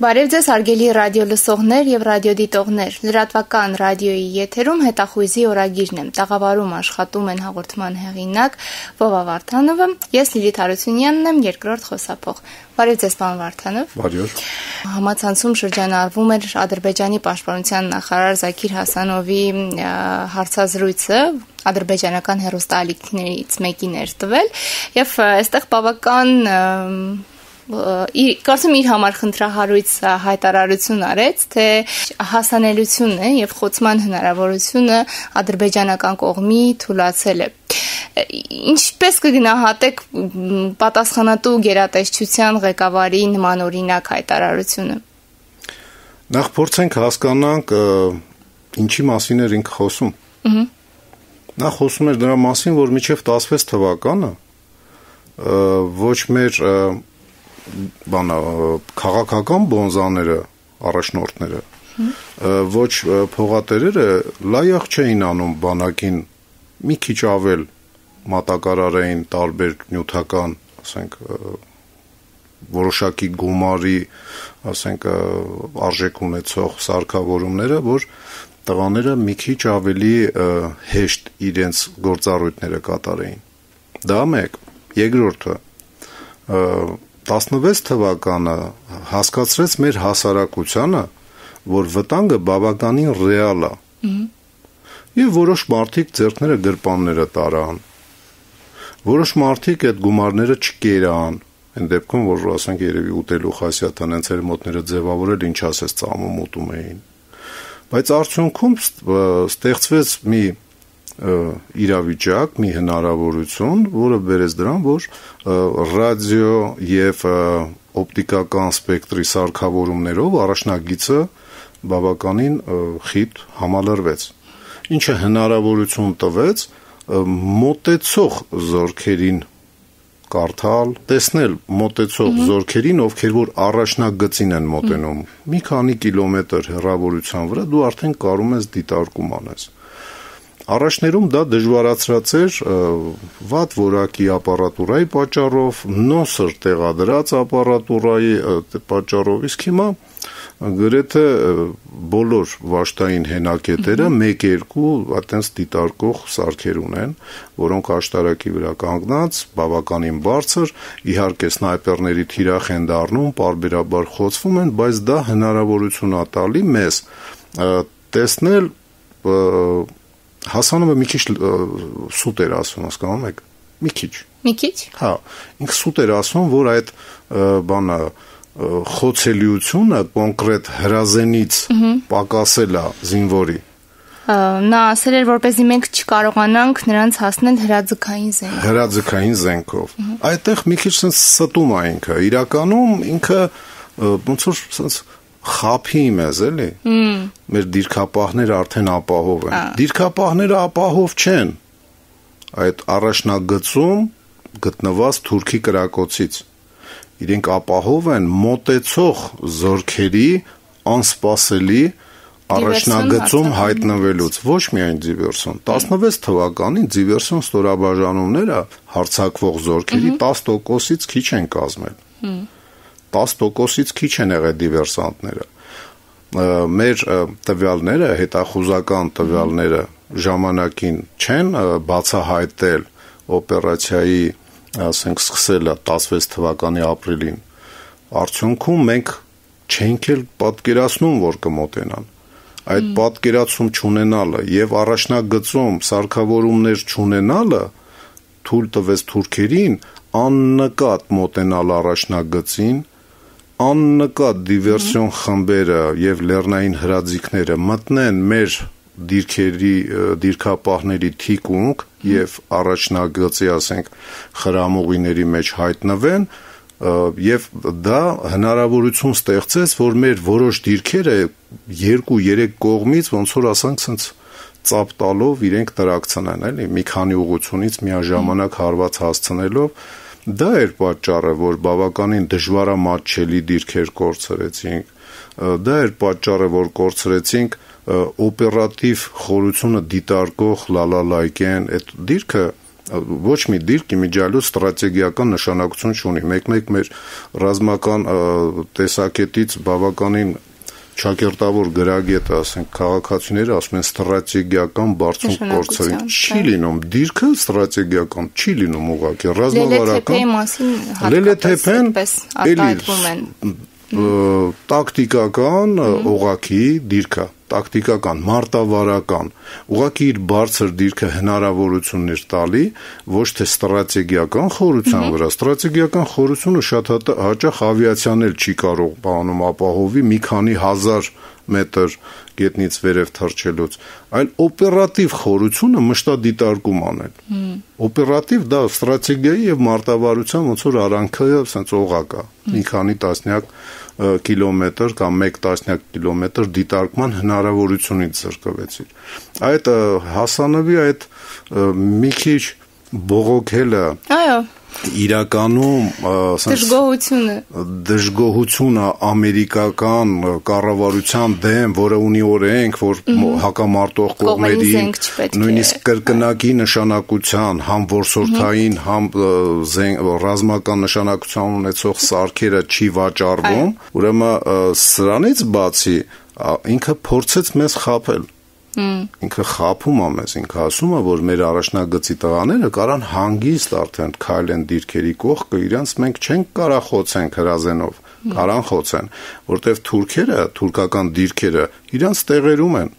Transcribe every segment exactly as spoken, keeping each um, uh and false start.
Բարև ձեզ հարգելի ռադիո լսողներ եւ ռադիոդիտողներ, լրատվական ռադիոյի եթերում հետախույզի օրագիրն եմ, տաղավարում աշխատում են հաղորդման հեղինակ Վովա Վարդանովը, ես Լիլիթ Հարությունյանն եմ, երկրորդ խոսափող։ Բարև ձեզ, պարոն Վարդանով։ Բարև։ Համացանցում շրջանառվում էր Ադրբեջանի պաշտպանության նախարար Զաքիր Հասանովի հարցազրույցը, ադրբեջանական հեռուստաալիքներից մեկին էր տվել, եւ այստեղ բավական կարծում իր համար խնդրահարույց հայտարարություն արեց, թե հասանելիությունը եւ խոցման հնարավորությունը ադրբեջանական կողմի թուլացել է։ Ինչպես կգնահատեք պատասխանատու գերատեսչության ղեկավարի նմանօրինակ հայտարարությունը։ Նախ փորձենք հասկանանք ինչի մասին էր ինքը խոսում։ Ահա։ Նա խոսում էր դրա մասին, որ մինչև տասնվեց թվականը ոչ մեր բանա քաղաքական բոնզաները, առաջնորդները, ոչ փողատերերը լայախ չէին անում բանակին մի քիչ ավել մատակարարային տարբեր նյութական, ասենք, որոշակի գումարի, ասենք, արժեք ունեցող սարքավորումները, որ տղաները մի քիչ ավելի հեշտ իրենց գործառույթները կատարեին։ Դա մեկ, երկրորդը տասնվեց թվականը հասկացրեց մեր հասարակությանը, որ վտանգը բավականին ռեալ է։ Եվ որոշ մարդիկ ձեռքները գրպանները տարան։ Որոշ մարդիկ այդ գումարները չկերան, այն դեպքում, որ ասենք երևի ուտելու խասյաթան հենց էր մոտները ձևավորել, ինչ ասես ծամում ուտում էին։ Բայց արդյունքում ստեղծվեց մի իրավիճակ, մի հնարավորություն, որը բերեց դրան, որ ռադիո եւ օպտիկական սպեկտրի սարքավորումներով առաջնագիծը բավականին խիտ համալրվեց, ինչը հնարավորություն տվեց մոտեցող զորքերին կարդալ, տեսնել մոտեցող զորքերին, ովքեր որ առաջնագծին են մոտենում, մի քանի կիլոմետր հեռավորության վրա դու արդեն կարում ես դիտարկում անես։ Առաջներում դա դժվարացրած էր վատ որակի ապարատուրայի պատճառով, նոսր տեղադրած ապարատուրայի պատճառով, իսկ հիմա գրեթե բոլոր վաշտային հենակետերը մեկ-երկու այտենց դիտարկող սարքեր ունեն, որոնք աշտարակի վրա կանգնած, բավականին բարձր, իհարկե սնայպերների թիրախ են դառնում, պարբերաբար խոցվում են, բայց դա հնարավորություն է տալի մեզ տեսնել Հասանովը մի քիչ սուտ էր ասում, հասկանում եք, մի քիչ։ Մի քիչ։ Հա, ինքը սուտ էր ասում, որ այդ բանը խոցելիությունը կոնկրետ հրազենից պակասել է զինվորի։ Նա ասել էր, որպեսզի մենք չկարողանանք նրանց հասնել հրաձգային զենքով։ Հրաձգային զենքով։ Այդտեղ մի քիչ sense ստում է ինքը։ Իրականում ինքը ոնց որ sense խափի մեզ էլի։ Մեր դիրքապահները արդեն ապահով են։ Դիրքապահները ապահով չեն այդ առաջնագծում գտնված թուրքի կրակոցից։ Իրենք ապահով են մոտեցող զորքերի անսպասելի առաջնագծում հայտնվելուց, ոչ միայն դիվերսիոն։ տասնվեց թվականին դիվերսիոն ստորաբաժանումները հարձակվող զորքերի տասը տոկոսից քիչ են կազմել։ տասը տոկոսից քիչ են եղել դիվերսանտները։ Մեր տվյալները, հետախուզական տվյալները ժամանակին չեն բացահայտել օպերացիայի, ասենք, սկսելը տասնվեց թվականի ապրիլին։ Արդյունքում մենք չենք էլ պատկերացնում, որ կմոտենան։ Այդ պատկերացում չունենալը եւ առաջնագծում սարքավորումներ չունենալը թույլ տվեց թուրքերին աննկատ մոտենալ առաջնագծին, աննկատ դիվերսիոն խմբերը եւ լեռնային հրաձիգները մտնեն մեր դիրքերի դիրքապահների թիկունք եւ առաջնագծի, ասենք, խրամուղիների մեջ հայտնվեն եւ դա հնարավորություն ստեղծեց, որ մեր որոշ դիրքերը երկու-երեք կողմից ոնց որ ասենք sense ծապ տալով իրենք տրակցնեն, էլի, մի քանի ուղությունից միաժամանակ հարված հասցնելով։ Դա էր պատճառը, որ բավականին դժվարամատչելի դիրքեր կորցրեցինք։ Դա էր պատճառը, որ կորցրեցինք օպերատիվ խորությունը դիտարկող լալալայկեն, այդ դիրքը ոչ մի դիրք իմիջիալու ստրատեգիական նշանակություն չունի։ Մեկ-մեկ մեր ռազմական տեսակետից բավականին ճակերտավոր գրագետը, ասենք, քաղաքացիները ասում են ստրատեգիական բարձունք կորցրել։ Չի լինում, դիրքը ստրատեգիական չի լինում ուղղակի, ռազմավարական։ Լելեթեփեն արտահայտվում են տակտիկական օղակի դիրքը, տակտիկական, մարտավարական, ուղղակի իր բարձր դիրքը հնարավորություններ տալի, ոչ թե ստրատեգիական խորության վրա։ Ստրատեգիական խորությունը շատ հաճախ ավիացիան էլ չի կարող բանում ապահովի մի քանի հազար մետր գետնից վերև թռչելուց, այլ օպերատիվ խորությունը մշտադիտարկում անել։ Օպերատիվ դա ստրատեգիայի եւ մարտավարության ոնց որ արանքը ասենց օղակ է, մի քանի տասնյակ կիլոմետր կամ մեկ տասնյակ կիլոմետր դիտարկման հնարավորությունից զրկվեցիր։ Այդ հասանելի այդ մի քիչ բողոքելը, այո, իրականում դժգոհությունը դժգոհությունը ամերիկական կառավարության դեմ, որը ունի օրենք, որ հակամարտող կողմերին նույնիսկ կրկնակի նշանակության, համ որսորդային, համ ռազմական նշանակության ունեցող սարքերը չի վաճառվում, ուրեմն սրանից բացի ինքը փորձեց մեզ խաբել։ Ինքը խափում է մեզ, ինքը ասում է, որ մեր առաջնագծի տղաները կարան հանգիստ արդեն քայլեն դիրքերի կողքը, իրանց մենք չենք կարող խոցենք հրազենով, կարան խոցեն, որտեվ թուրքերը, թուրքական դիրքերը իրանց տեղերում են,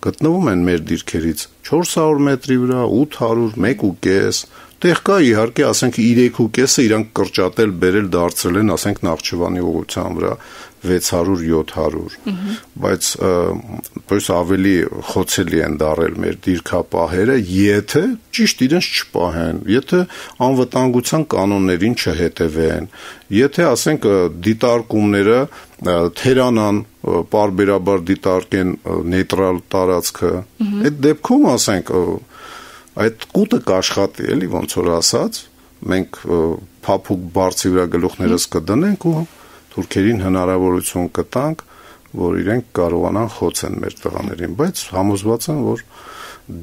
գտնվում են մեր դիրքերից չորս հարյուր մետրի վրա, ութ հարյուր, մեկ ու կես, տեղ կա իհարկե, ասենք երեք ու կեսը իրանք կրճատել, բերել դարձրել են, ասենք Նախճիվանի ուղղության վրա վեց հարյուր յոթ հարյուր, բայց պես ավելի խոցելի են դարել մեր դիրքապահերը, եթե ճիշտ իրենց չպահեն, եթե անվտանգության կանոններին չհետևեն, եթե ասենք դիտարկումները թերանան, պարբերաբար դիտարկեն նեյտրալ տարածքը, այդ դեպքում ասենք այդ կուտը կաշխատի, էլի ոնց որ ասած, մենք փափուկ բարձի վրա գլուխներս կդնենք ու թուրքերին հնարավորություն կտանք, որ իրենք կարողանան խոցեն մեր տղաներին, բայց համոզված եմ, որ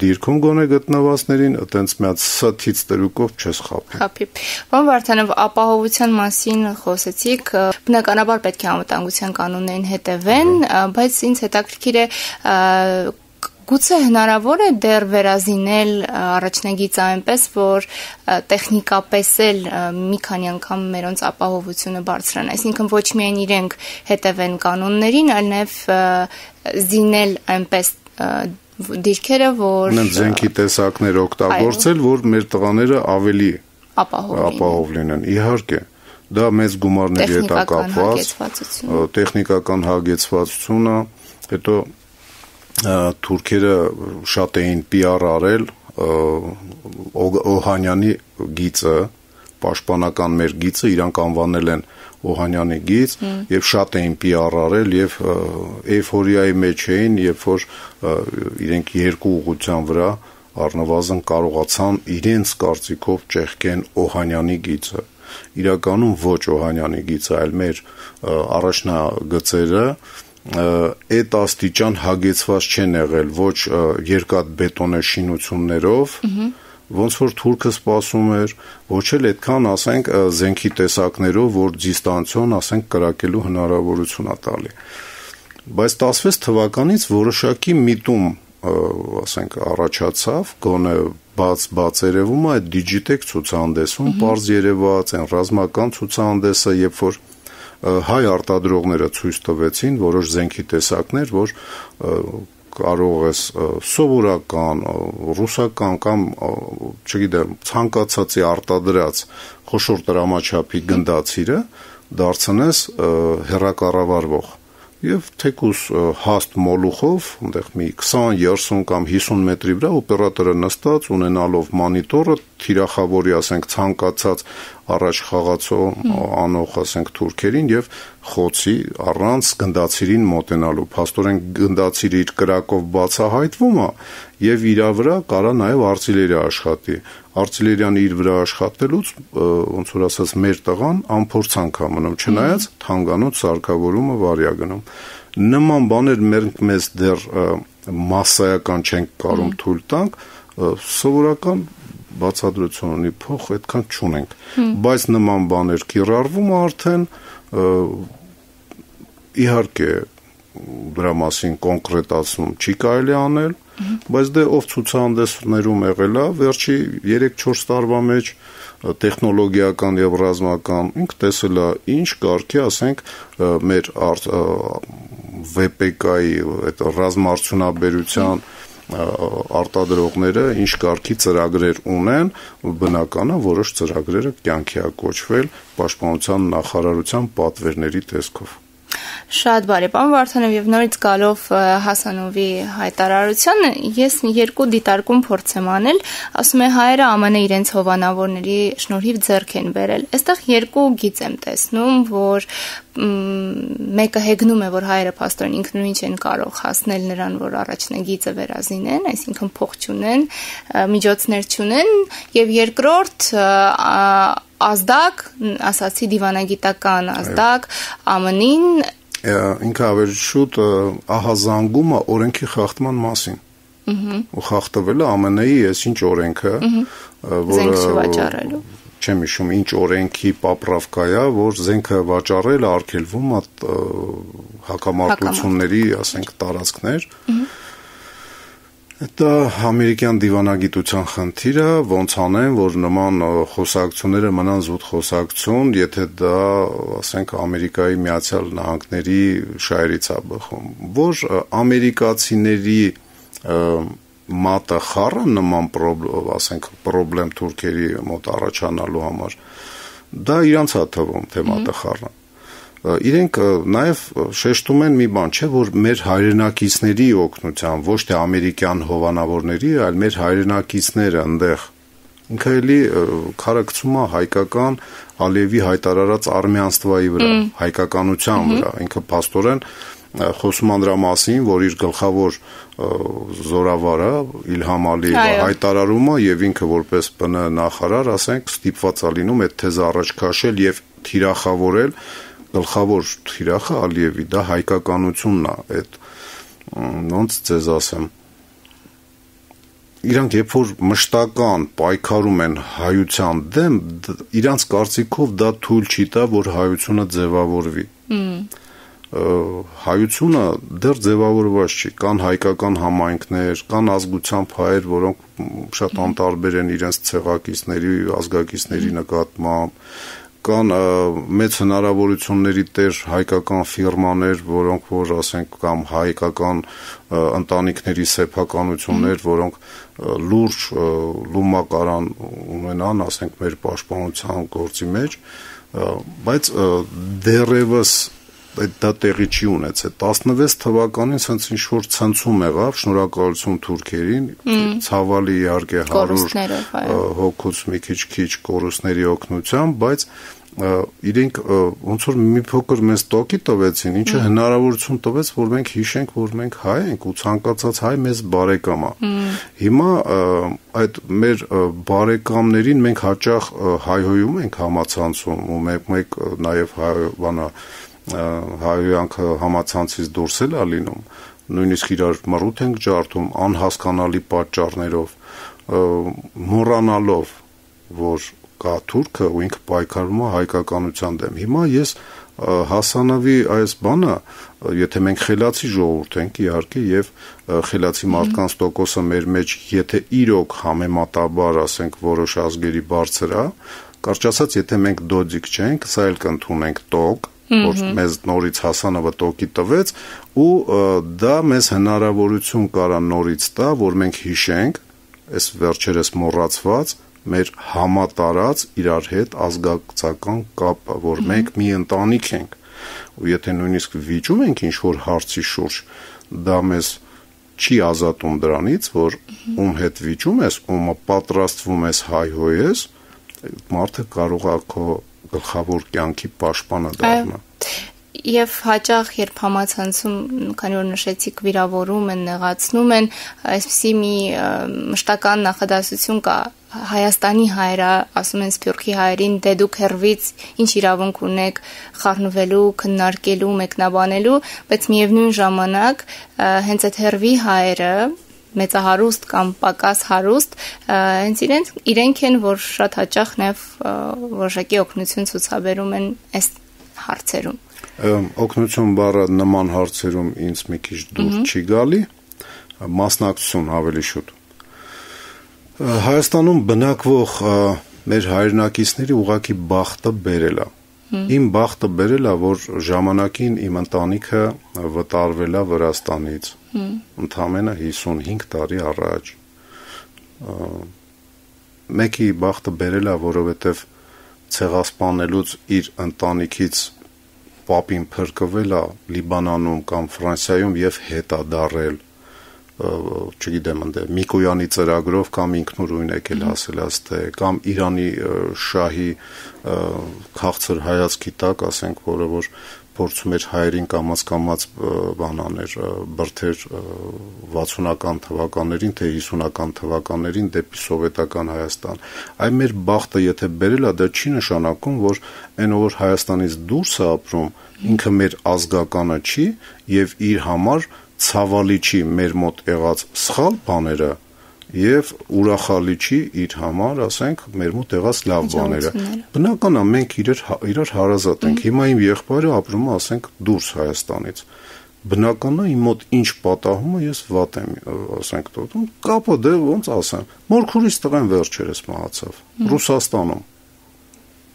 դիրքում գոնե գտնվածներին այտենց միած սաթից տրուկով չես խափի։ Խափի։ Պարոն Վարդանով, ապահովության մասին խոսեցիք, բնականաբար պետք է անվտանգության կանոններին հետևեն, բայց ինձ հետաքրքիր է գուցե հնարավոր է դեռ վերազինել առաջնագիծը այնպես, որ տեխնիկապես էլ մի քանի անգամ մերոնց ապահովությունը բարձրանա, այսինքն ոչ միայն իրենք հետևեն կանոններին, այլ նաև զինել այնպես դիրքերը, որ զենքի տեսակներ օգտագործել, որ մեր տղաները ավելի ապահով լինեն։ Իհարկե, դա մեծ գումարների հետ է կապված, տեխնիկական հագեցվածությունը, հետո թուրքերը շատ էին պի ար արել Օհանյանի գիծը, պաշտպանական մեր գիծը, իրանք անվանել են Օհանյանի գիծ եւ շատ էին պի ար արել եւ էյֆորիայի մեջ էին, երբ որ իրենք երկու ուղղության վրա առնվազն կարողացան իրենց կարծիքով ճեղքեն Օհանյանի գիծը։ Իրականում ոչ Օհանյանի գիծը, այլ մեր առաջնագծերը այդ աստիճան հագեցված չեն եղել, ոչ երկաթ բետոնե շինություններով, ոնց որ թուրքը սպասում էր, ոչ էլ այդքան, ասենք, զենքի տեսակներով, որ դիստանցիոն, ասենք, կրակելու հնարավորություն է տալի։ Բայց տասնվեց թվականից որոշակի միտում, ասենք, առաջացավ, գոնե բաց-բաց երևում է այդ Digitech ցուցահանդեսում, պարզ երևաց այն ռազմական ցուցահանդեսը, երբ որ հայ արտադրողները ցույց տվեցին որոշ զենքի տեսակներ, որ կարող ես սովորական, ռուսական կամ, չգիտեմ, ցանկացածի արտադրած խոշոր տրամաչափի գնդացիրը դարձնես հեռակառավարվող եւ թեկուս հաստ մոլուխով, այնտեղ մի քսան, երեսուն կամ հիսուն մետրի վրա օպերատորը նստած ունենալով մանիտորը թիրախավորի, ասենք, ցանկացած առաջ խաղացող անող, ասենք, թուրքերին եւ խոցի առանց գնդացիրին մոտենալու։ Փաստորեն գնդացիրը իր կրակով բացահայտվում է եւ իր վրա կարա նաեւ արտիլերիա աշխատի։ Արտիլերիան իր վրա աշխատելուց, ոնց որ ասած, մեր տղան անփորձանք է մնում, չնայած թանկանոց սարքավորումը վարյա գնում։ Նման բաներ մենք մեզ դեռ մասսայական չենք կարող թույլ տանք, սովորական բացատրություն ունի, փող այդքան չունենք, բայց նման բաներ կիրառվում արդեն, իհարկե դրա մասին կոնկրետացում չի կարելի անել, բայց դե ով ցուցահանդեսներում եղել է, վերջի երեք-չորս տարվա մեջ տեխնոլոգիական եւ ռազմական ինք տեսել է ինչ կարգի, ասենք, մեր վե պե կայի այդ ռազմաարդյունաբերության արտադրողները ինչ կարգի ծրագրեր ունեն, բնական է, որոշ ծրագրերը կյանքի է կոչվել պաշտպանության նախարարության պատվերների տեսքով։ Շատ բարի, պարոն Վարդանով, եւ նորից գալով Հասանովի հայտարարությանը, ես երկու դիտարկում փորձ եմ անել, ասում է հայերը ԱՄՆ իրենց հովանավորների շնորհիվ ձեռք են բերել։ Այստեղ երկու գիծ եմ տեսնում, որ մեկը հեգնում է, որ հայերը փաստորեն ինքնուրույն չեն կարող հասնել նրան, որ առաջնագիծը վերազինեն, այսինքն փող չունեն, միջոցներ չունեն, եւ երկրորդ ազդակ, ասացի դիվանագիտական ազդակ ԱՄՆ-ին ինքը ավելի շուտ ահազանգում է օրենքի խախտման մասին։ Ու խախտվել է ԱՄՆ-ի այսինչ օրենքը, որը չեմ հիշում ինչ օրենքի պապրավկա է, որ զենքը վաճառելը արգելվում է հակամարտությունների, ասենք, տարածքներ։ Դա ամերիկյան դիվանագիտության խնդիրը, ոնց անեն, որ նման խոսակցությունները մնան զուտ խոսակցություն, եթե դա, ասենք, Ամերիկայի Միացյալ Նահանգների շահերից է բխում, որ ամերիկացիների մատը խառը նման, ասենք, պրոբլեմ թուրքերի մոտ առաջանալու համար, դա իրանց է թվում, թե մատը խառը։ Իրենք նաև շեշտում են մի բան, չէ, որ մեր հայրենակիցների օգնությամբ, ոչ թե ամերիկյան հովանավորների, այլ մեր հայրենակիցները այնտեղ ինքը էլի քարակցում է հայկական Ալիևի հայտարարած արմյանստվայի վրա, հայկականության վրա, ինքը փաստորեն խոսում անդրա մասին, որ իր գլխավոր զորավարը Իլհամ Ալիևը հայտարարում է եւ ինքը որպես ՊՆ նախարար, ասենք, ստիպված է լինում այդ թեզը առաջ քաշել եւ թիրախավորել գլխավոր թիրախը Ալիևի, դա հայկականությունն է, այդ ոնց ձեզ ասեմ, իրանք երբ որ մշտական պայքարում են հայության դեմ, իրանց կարծիքով դա թույլ չի տա, որ հայությունը ձևավորվի։ Հայությունը դեռ ձևավորված չի, կան հայկական համայնքներ, կան ազգությամբ հայեր, որոնք շատ անտարբեր են իրենց ցեղակիցների, ազգակիցների նկատմամբ, կան մեծ հնարավորությունների տեր հայկական ֆիրմաներ, որոնք որ, ասենք, կամ հայկական ընտանիքների սեփականություններ, որոնք լուրջ լումակարան ունենան, ասենք, մեր պաշտպանության գործի մեջ, բայց դեռևս դա տեղի չի ունեցել։ տասնվեց թվականին ցած ինչ որ ցնցում եղավ, շնորհակալություն թուրքերին, ցավալի իհարկե հարյուր հոգուց մի քիչ-քիչ կորուստների օգնությամբ, բայց իրենք ոնց որ մի փոքր մեզ տոկի տվեցին, ինչը հնարավորություն տվեց, որ մենք հիշենք, որ մենք հայ ենք ու ցանկացած հայ մեզ բարեկամ է։ Հիմա այդ մեր բարեկամներին մենք հաճախ հայհոյում ենք համացանցում ու մեկ-մեկ նաև բանա հայոյանքը համացանցից դուրս էլ է լինում, նույնիսկ իրար մռութ ենք ջարդում անհասկանալի պատճառներով, մոռանալով, որ կա թուրքը ու ինքը պայքարում է հայկականության դեմ։ Հիմա ես Հասանովի այս բանը, եթե մենք խելացի ժողովուրդ ենք, իհարկե, եւ խելացի մարդկանց տոկոսը մեր մեջ, եթե իրոք համեմատաբար, ասենք, որոշ ազգերի բարձր է, կարճ ասած, եթե մենք դոձիկ չենք, սա էլ կընդունենք տոկ, որ մեզ նորից Հասանովը տոկի տվեց ու դա մեզ հնարավորություն կարա նորից տա, որ մենք հիշենք այս վերջերս մոռացված մեր համատարած իրար հետ ազգակցական կապը, որ մենք մի ընտանիք ենք ու եթե նույնիսկ վիճում ենք ինչ-որ հարցի շուրջ, դա մեզ չի ազատում դրանից, որ ում հետ վիճում ես, ումը պատրաստվում ես հայհոյես, մարդը կարող է քո գլխավոր կյանքի պաշտպանը դառնա։ Եվ հաճախ երբ համացանցում, քանի որ նշեցիք, վիրավորում են, նեղացնում են, այսպիսի մի մշտական նախադասություն կա, Հայաստանի հայերը ասում են Սփյուռքի հայերին, դե դուք հերվից ինչ իրավունք ունեք խառնվելու, քննարկելու, մեկնաբանելու, բայց միևնույն ժամանակ հենց այդ հերվի հայերը մեծահարուստ կամ պակաս հարուստ, հենց իրենք իրենք են, որ շատ հաճախ նաև որոշակի օգնություն ցուցաբերում են այս հարցերում։ Օգնություն բառը նման հարցերում ինձ մի քիչ դուր չի գալի, մասնակցություն ավելի շուտ։ Հայաստանում բնակվող մեր հայրենակիցների ուղղակի բախտը բերել է։ Իմ բախտը բերել է, որ ժամանակին իմ ընտանիքը վտարվել է Վրաստանից, ընդամենը հիսունհինգ տարի առաջ։ Մեկի բախտը բերել է, որովհետև ցեղասպանելուց իր ընտանիքից պապին փրկվել է Լիբանանում կամ Ֆրանսիայում եւ հետա դարել, չգիտեմ, ընդ Միկոյանի ծրագրով կամ ինքնուրույն եկել հասել աստե, կամ Իրանի շահի քաղցր հայացքի տակ, ասենք, որը որ փորձում էր հայերին կամաց-կամաց բանաներ, բրդեր վաթսունական թվականներին, թե հիսունական թվականներին դեպի սովետական Հայաստան։ Այ մեր բախտը եթե բերել է, դա չի նշանակում, որ այն որ Հայաստանից դուրս է ապրում, ինքը մեր ազգականը չի եւ իր համար ցավալի չի մեր մոտ եղած սխալ բաները եւ ուրախալի չի իր համար, ասենք, մեր մոտ եղած լավ բաները։ Բնական է, մենք իրար իրար հարազատ ենք։ Հիմա իմ եղբայրը ապրում է, ասենք, դուրս Հայաստանից։ Բնական է, իմ մոտ ինչ պատահում է, ես վատ եմ, ասենք, դոտում, կապը դե ոնց ասեմ։ Մորքուրից տղան վերջերս մահացավ Ռուսաստանում։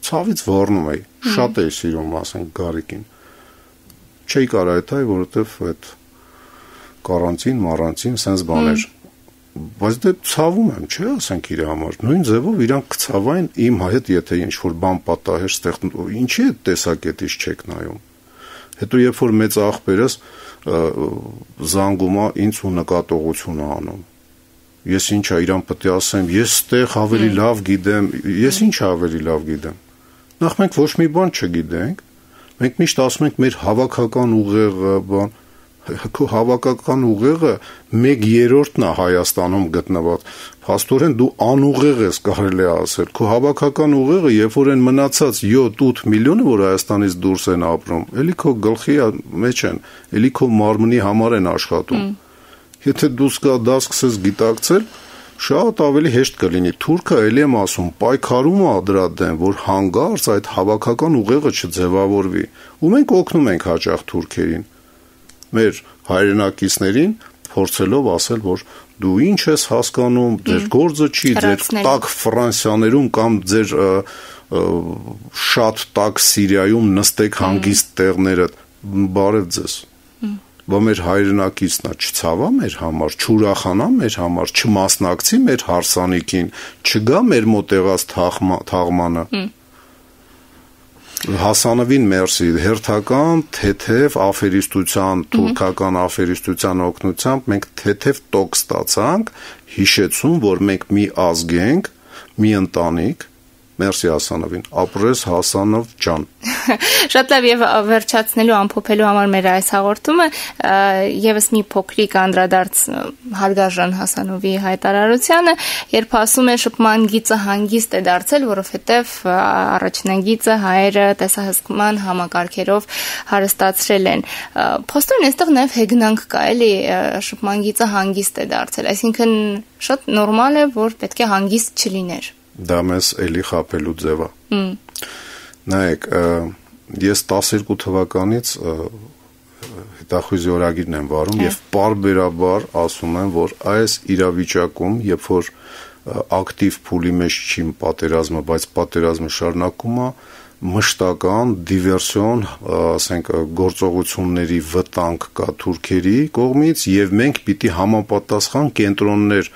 Ցավից վառնում էի, շատ էի սիրում, ասենք, Գարիկին։ Չէի կարող այդ այ, որովհետև այդ կարանտին, մառանտին, sense բաներ։ Բայց դե ցավում եմ, չէ, ասենք իր համար։ Նույն ձևով իրանք կցավային իմ հետ, եթե ինչ-որ բան պատահեր, ստեղ ինչի է տեսակետից չեք նայում։ Հետո երբ որ մեծ աղբերս զանգում է ինձ ու նկատողություն է անում։ Ես ինչա իրան պետք է ասեմ, ես ստեղ ավելի լավ գիտեմ, ես ինչ ավելի լավ գիտեմ։ Նախ մենք ոչ մի բան չգիտենք։ Մենք միշտ ասում ենք մեր հավաքական ուղեղը, բան քո հավաքական ուղեղը մեկ երրորդն է Հայաստանում գտնված։ Փաստորեն դու անուղեղ ես, կարելի է ասել։ Քո հավաքական ուղեղը, երբ որ են մնացած յոթ-ութ միլիոնը, որ Հայաստանից դուրս են ապրում, էլի քո գլխի մեջ են, էլի քո մարմնի համար են աշխատում։ Եթե դու սկա դա սկսես գիտակցել, շատ ավելի հեշտ կլինի։ Թուրքը էլի եմ ասում, պայքարում է դրա դեմ, որ հանգարց այդ հավաքական ուղեղը չձևավորվի։ Ու մենք օգնում ենք հաճախ թուրքերին, մեր հայրենակիցներին, փորձելով ասել, որ դու ինչ ես հասկանում, ձեր գործը չի, ձեր տակ Ֆրանսիաներում կամ ձեր շատ տակ Սիրիայում նստեք հանգիստ տեղները, բարև ձեզ։ Բա մեր հայրենակիցնա չցավա մեր համար, չուրախանա մեր համար, չմասնակցի մեր հարսանիքին, չգա մեր մոտ եղած թաղմանը։ Հասանովին մերսի, հերթական թեթև աֆերիստության, թուրքական աֆերիստության օգնությամբ մենք թեթև տոկ ստացանք, հիշեցում, որ մենք մի ազգ ենք, մի ընտանիք, Մերսի Հասանովին, ապրես Հասանով ջան։ Շատ լավ, եւ վերջացնելու ամփոփելու համար մեր այս հաղորդումը եւս մի փոքրիկ անդրադարձ Հարգարժան Հասանովի հայտարարությանը, երբ ասում է շփման գիծը հանգիստ է դարձել, որովհետեւ առաջնագիծը հայերը տեսահսկման համակարգերով հարստացրել են։ Փոստորեն այստեղ նաեւ հեգնանք կա, էլի, շփման գիծը հանգիստ է դարձել, այսինքն շատ նորմալ է, որ պետք է հանգիստ չլիներ։ Դա մեզ էլի խապելու ձև է։ Նայեք, ես տասներկու թվականից հետախույզի օրագիրն եմ վարում եւ պարբերաբար ասում եմ, որ այս իրավիճակում, երբ որ ակտիվ փուլի մեջ չի պատերազմը, բայց պատերազմը շարունակում է, մշտական դիվերսիոն, ասենք, գործողությունների վտանգ կա թուրքերի կողմից եւ մենք պիտի համապատասխան կենտրոններ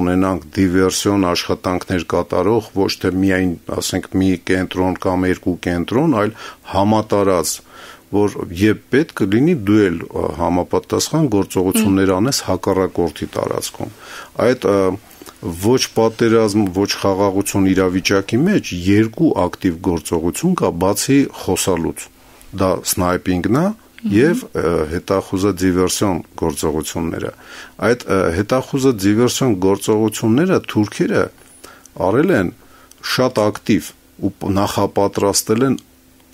ունենանք դիվերսիոն աշխատանքներ կատարող ոչ թե միայն, ասենք, մի կենտրոն կամ երկու կենտրոն, այլ համատարած, որ երբ պետք լինի դու էլ համապատասխան գործողություններ անես հակառակորդի տարածքում։ Այդ ոչ պատերազմ, ոչ խաղաղություն իրավիճակի մեջ երկու ակտիվ գործողություն կա բացի խոսալուց։ Դա սնայպինգն է եւ հետախուզադիվերսիոն գործողությունները։ Այդ հետախուզադիվերսիոն գործողությունները թուրքերը արել են շատ ակտիվ ու նախապատրաստել են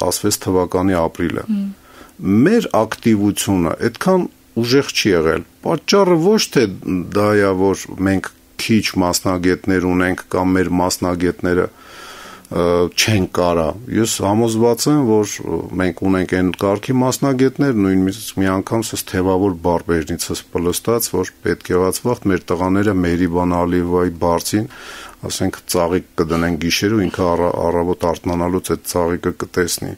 տասնվեց թվականի ապրիլը։ Մեր ակտիվությունը այդքան ուժեղ չի եղել, Պատճառը ոչ թե դա է, որ մենք քիչ մասնագետներ ունենք կամ մեր մասնագետները չեն կարա։ Ես համոզված եմ, որ մենք ունենք այն կարգի մասնագետներ, նույնիսկ մի անգամ սս թևավոր բարբերնիցս պլստած, որ պետք է վաղ մեր տղաները մերի բանալիվայի բարձին, ասենք ծաղիկ կդնեն գիշերը, ինքը առավոտ արթնանալուց այդ ծաղիկը կտեսնի։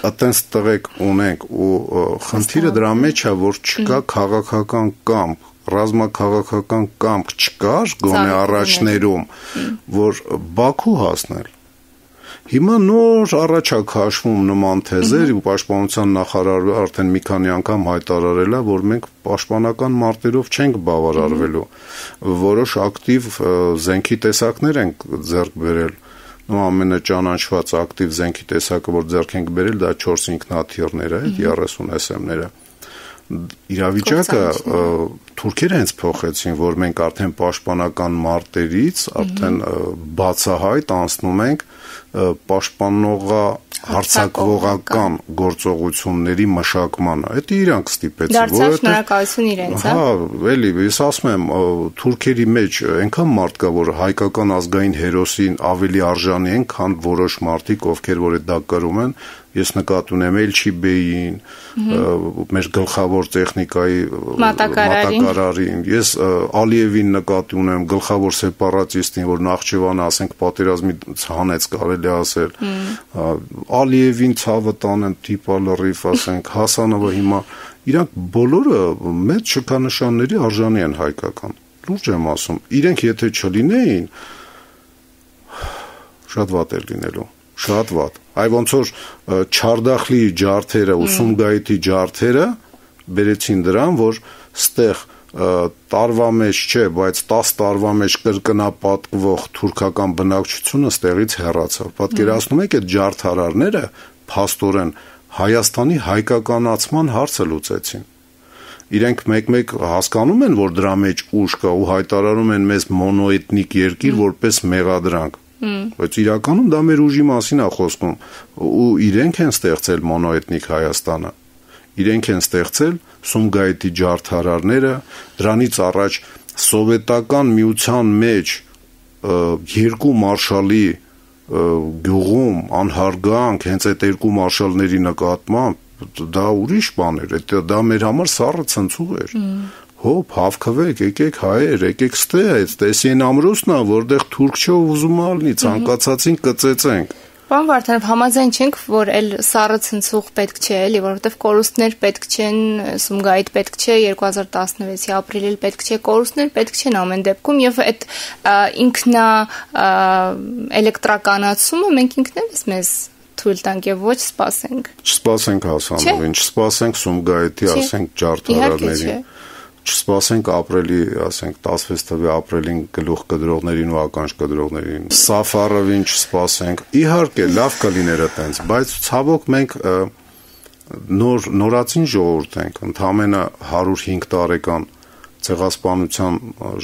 Այտենց տղեկ ունենք ու խնդիրը դրա մեջ է, որ չկա քաղաքական կամք, ռազմաքաղաքական կամք չկար գոնե առաջներում, որ Բաքու հասնել։ Հիմա նոր առաջ է քաշվում նման թեզեր ու պաշտպանության նախարարը արդեն մի քանի անգամ հայտարարել է, որ մենք պաշտպանական մարտերով չենք բավարարվելու, որոշ ակտիվ զենքի տեսակներ ենք ձեռք բերել։ Նո ամենաճանաչված ակտիվ զենքի տեսակը, որ ձեռք ենք բերել, դա չորս ինքնաթիռները, այդ երեսուն էս էմ-ները։ Իրավիճակը թուրքերը հենց փոխեցին, որ մենք արդեն պաշտպանական մարտերից արդեն բացահայտ անցնում ենք պաշտպանողա հարձակվողական գործողությունների մշակմանը։ Դա իրանք ստիպեցին, դարձավ շնորհակալություն իրենց, հա։ Հա, էլի, ես ասում եմ, թուրքերի մեջ այնքան մարդ կա, որ հայկական ազգային հերոսին ավելի արժանի են, քան որոշ մարդիկ, ովքեր որ դա կրում են։ Ես նկատի ունեմ Էլչիբեին, մեր գլխավոր տեխնիկայի մատակարարին, ես Ալիևին նկատի ունեմ, գլխավոր սեպարատիստին, որ Նախճեվանը, ասենք, պատերազմի հանեց, կարելի ասել, Ալիևին ցավը տանեն, տիպալրիվ, ասենք, Հասանովը հիմա, իրանք բոլորը մեծ շքանշանների արժանի են հայկական, լուրջ եմ ասում, իրենք եթե չլինեին, շատ վատ էր լինելու, շատ վատ, այ ոնց որ Չարդախլի ջարդերը ու Սումգայիթի ջարդերը բերեցին դրան, որ ստեղ տարվա մեջ չէ, բայց տասը տարվա մեջ կրկնապատկվող թուրքական բնակչությունը ստեղից հեռացավ։ Պատկերացնում եք այդ ջարդարարները փաստորեն Հայաստանի հայկականացման հարցը լուծեցին։ Իրենք մեկ-մեկ հասկանում են, որ դրա մեջ ուժ կա ու հայտարարում են մեզ մոնոէթնիկ երկիր որպես մեղադրանք։ Բայց իրականում դա մեր ուժի մասին է խոսքում ու իրենք են ստեղծել մոնոէթնիկ Հայաստանը։ Իրենք են ստեղծել Սումգայիթի ջարդարարները, դրանից առաջ սովետական միության մեջ երկու մարշալի գյուղում անհարգանք հենց այդ երկու մարշալների նկատմամբ դա ուրիշ բան էր, դա մեր համար սառը ցնցուղ էր։ Հոп, հավքվեք, եկեք հայեր, եկեք ստեղ, տեսին ամրոցն է, որտեղ թուրք չէ ուզում ալնի, ցանկացածին կծեծենք։ Պարոն Վարդանով, համաձայն չենք, որ էլ սառը ցնցուղ պետք չէ, էլի, որովհետև կորուստներ պետք չեն, Սումգայիթ պետք չէ, երկու հազար տասնվեցի ապրիլին պետք չէ, կորուստներ պետք չեն ամեն դեպքում եւ այդ ինքնա էլեկտրականացումը մենք ինքներս մեզ թույլ տանք եւ ոչ սպասենք։ Չսպասենք Հասանովին, չսպասենք Սումգայիթի, ասենք ջարդարարներին։ Չսպասենք ապրիլի, ասենք տասնվեց թվականի ապրիլին գլուխ կդրողներին ու ականջ կդրողներին, Սաֆարովին չսպասենք։ Իհարկե, լավ կլիներ այտենց, բայց ցավոք մենք նոր նորացին ժողովուրդ ենք, ընդամենը հարյուր հինգ տարեկան ցեղասպանության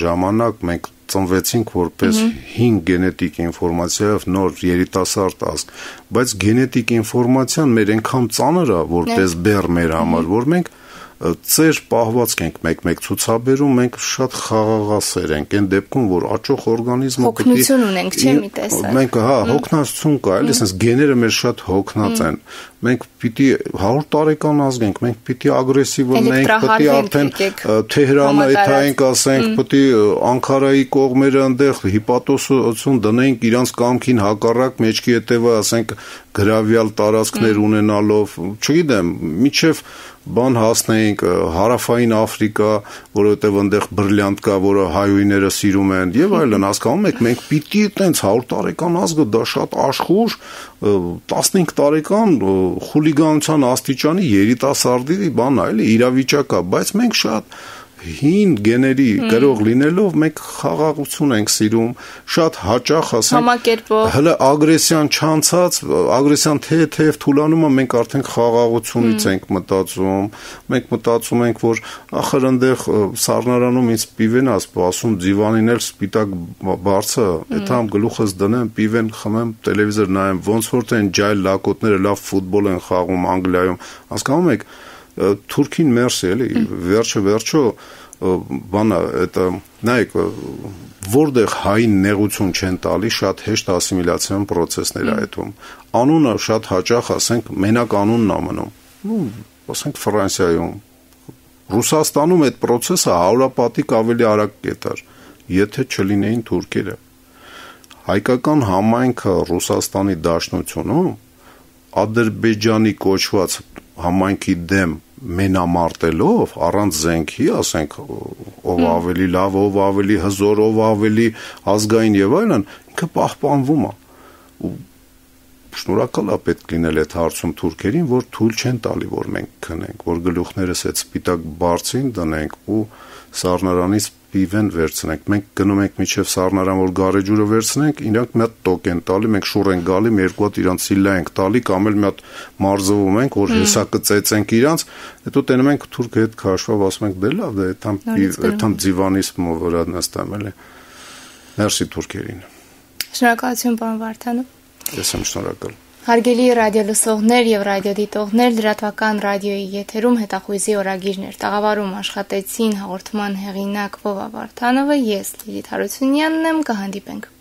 ժամանակ մենք ծնվեցինք որպես հինգ գենետիկ ինֆորմացիայով նոր երիտասարդ ազգ, բայց գենետիկ ինֆորմացիան մեր այնքան ծանր է, որպես բեռ մեր համար, որ մենք ծեր պահվածք ենք մեկ-մեկ ցուցաբերում, մենք շատ խաղաղասեր ենք, այն դեպքում, որ աճող օրգանիզմը հոգնություն ունենք, չէ՞ մի տեսակ։ Մենք հա, հոգնածություն կա, էլի, ասես գեները մեր շատ հոգնած են։ Մենք պիտի հարյուր տարեկան ազգ ենք, մենք պիտի ագրեսիվ լինենք, պիտի արդեն Թեհրանը այդայինք ասենք, պիտի Անկարայի կողմերը այնտեղ հիպատոսություն դնենք իրանց կամքին հակառակ, մեջքի հետևը ասենք գրավյալ տարածքներ ունենալով, չգիտեմ, միջև բան հասնեինք հարավային Աֆրիկա, որովհետև այնտեղ բրիլյանտ կա, որը հայույները սիրում են, եւ այլն, հասկանում եք, մենք պիտի այտենց հարյուր տարեկան ազգը դա շատ աշխուժ, տասնհինգ տարեկան խուլիգանության աստիճանի երիտասարդի բան է, էլի իրավիճակ է, բայց մենք շատ հին գեների գրող լինելով մենք խաղաղություն ենք սիրում, շատ հաճախ ասենք համակերպող հələ ագրեսիան չանցած, ագրեսիան թեթև թուլանումը մենք արդեն խաղաղությունից ենք մտածում, մենք մտածում ենք, որ ախր այնտեղ սառնարանում ինձ պիվեն է սպասում, դիվանին էլ սպիտակ բարձը, այդամ գլուխս դնեմ, պիվեն խմեմ, տելևիզոր նայեմ, ոնց որ թե ջայլ լակոտները լավ ֆուտբոլ են խաղում Անգլիայում, հասկանում եք Թուրքին մերսի էլի, վերջը վերջո բանա, это, նայեք, որտեղ հային նեղություն չեն տալի, շատ հեշտ ասիմիլյացիոն process-ներ է այդում։ Անունը շատ հաճախ, ասենք, մենակ անունն է մնում։ Ну, ասենք Ֆրանսիայում, Ռուսաստանում այդ process-ը հարյուրապատիկ ավելի արագ կետար, եթե չլինեին թուրքերը։ Հայկական համայնքը Ռուսաստանի Դաշնությունում Ադրբեջանի կոչված համայնքի դեմ մենամարտելով, առանց զենքի, ասենք, ով ավելի լավ, ով ավելի հզոր, ով ավելի ազգային եւ այլն, ինքը պահպանվում է։ Ու շնորհակալ է պետք լինել այդ հարցում թուրքերին, որ թույլ չեն տալի, որ մենք քնենք, որ գլուխներս այդ սպիտակ բարձին դնենք ու սառնարանից պիվեն վերցնենք։ Մենք գնում ենք միջև սառնարան, որ գարեջուրը վերցնենք, իրանք մի հատ տոկ են տալի, մենք շուռ են գալի, մի երկու հատ իրանց սիլա ենք տալի, կամ էլ մի հատ մարզվում ենք, որ հեսակը ծեծենք իրանց, հետո տենում ենք թուրքը հետ քաշվավ, ասում ենք դե լավ, դե այդամ այդամ դիվանիսմը վրա նստեմ էլի։ Մերսի թուրքերին։ Շնորհակալություն, պարոն Վարդանов։ Ես եմ շնորհակալ։ Հարգելի ռադիոլսողներ եւ ռադիոդիտողներ, լրատվական ռադիոյի եթերում հետախույզի օրագիրներ տաղավարում աշխատեցին հաղորդման հեղինակ Վովա Վարդանովը, ես Լիլիթ Հարությունյանն եմ, կհանդիպենք